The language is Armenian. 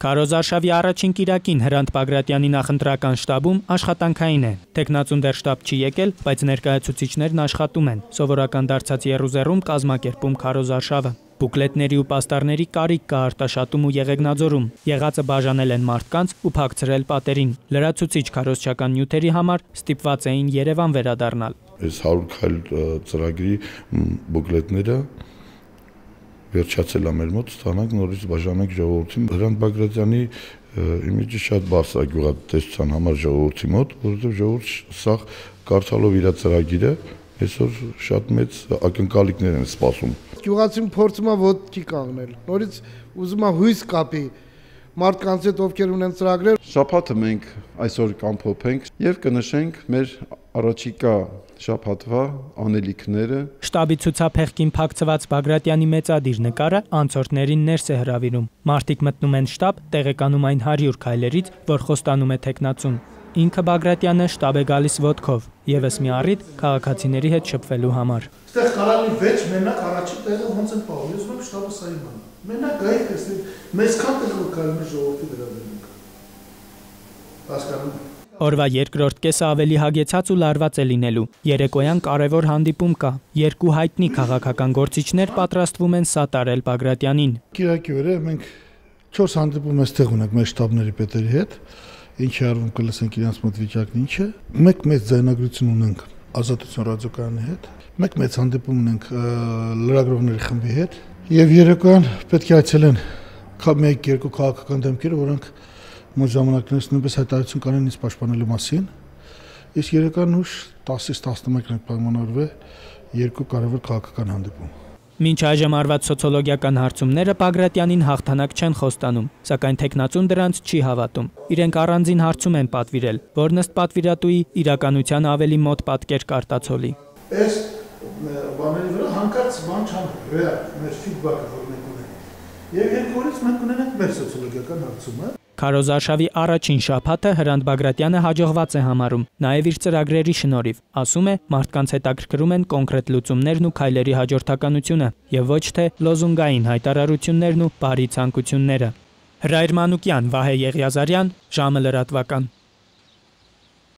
Քարոզ Արշավի առաջին կիրակին Հրանտ Բագրատյանի նախընտրական շտաբում աշխատանքային է։ Տեխնացուն դեռ շտաբ չի եկել, բայց ներկայացուցիչներն աշխատում են։ Սովորական դարձած եռուզեռում կազմակերպում Քարոզ Արշավը։ Բուկլետների ու պաստառների կարիք կա Արտաշատում ու Եղեգնաձորում։ Եղածը բաժանել են մարդկանց ու փակցրել պատերին։ Լրացուցիչ քարոզչական նյութերի համար ստիպված էին Երևան վերադառնալ։ Այս 100 քայլ ծրագրի բուկլետները վերջացել է մեր մոտ, ստանանք նորից բաժանենք ժողովրդին։ Հրանտ Բագրատյանի իմիջը շատ բարձր է գյուղատնտեսության համար ժողովրդի մոտ, որովհետև ժողովուրդը սա կարդալով իր ծրագիրը այսօր շատ մեծ ակնկալիքներ են սպասում։ Գյուղացին փորձում է ոտքի կանգնել, նորից ուզում է հույս կապի մարդկանց հետ, ովքեր ունեն ծրագրեր։ Շաբաթը մենք այսօր կամփոփենք եւ կնշենք մեր առաջիկա շաբաթվա անելիքները։ Շտաբի ցուցափեղկին փակցված Բագրատյանի մեծադիր նկարը անցորդներին ներս է հրավիրում։ Մարդիկ մտնում են շտաբ, տեղեկանում այն 100 քայլերից, որ խոստանում է տեխնացուն։ Ինքը Բագրատյանը շտաբ է գալիս ոտքով, եւս մի առիթ քաղաքացիների հետ շփվելու համար։ Այստեղ կարալի վեճ մենակ առաջի տեղը ոնց են պահում, ես ում շտաբը սա իմանա։ Մենակ գայք էստեղ մեզքան տեղը կարում է ժողովրդի վերաբերմունքը։ Հասկանում։ Օրվա երկրորդ կեսը ավելի հագեցած ու լարված է լինելու։ Երեկոյան կարևոր հանդիպում կա։ Երկու հայտնի քաղաքական գործիչներ պատրաստվում են սատարել Բագրատյանին։ Կիրակի օրը մենք 4 հանդիպում այստեղ ունենք մեր շտաբների պետերի հետ, ինչի արվում կլսենք իրենց մոտ վիճակն ինչ է։ Մեկ մեծ ձայնագրություն ունենք Ազատություն ռադիոկայանի հետ, մեկ մեծ հանդիպում ունենք լրագրողների խմբի հետ, եւ երեկոյան պետք է այցելեն մեկ-երկու քաղաքական դեմքերը, որոնք մոտ ժամանակներից նույնպես հայտարարություն կանեն ինձ պաշտպանելու մասին, իսկ երեկոյան ուշ 10-ից 11-ն պայմանավորվել երկու կարևոր քաղաքական հանդիպում։ Մինչ այժմ արված սոցիոլոգիական հարցումները Բագրատյանին հաղթանակ չեն խոստանում, սակայն տեխնացուն դրանց չի հավատում։ Իրենք առանձին հարցում են պատվիրել, որն ըստ պատվիրատուի իրականության ավելի մոտ պատկեր կարտացոլի։ Այս բաների վրա հանկարծ բան չան ռեալ մեր ֆիդբաքը, որ մենք ունենք։ Եվ երկու օրից մենք ունենք մեր սոցիոլոգիական հարցումը։ Քարոզ Արշավի առաջին շաբաթը Հրանտ Բագրատյանը հաջողված է համարում, նաև իր ծրագրերի շնորհիվ, ասում է, մարդկանց հետաքրքրում են կոնկրետ լուծումներն ու քայլերի հաջորդականությունը, եւ ոչ թե լոզունգային հայտարարություններն ու բարի ցանկությունները։ Հրայր Մանուկյան, Վահե Եղիազարյան, ժամը լրատվական։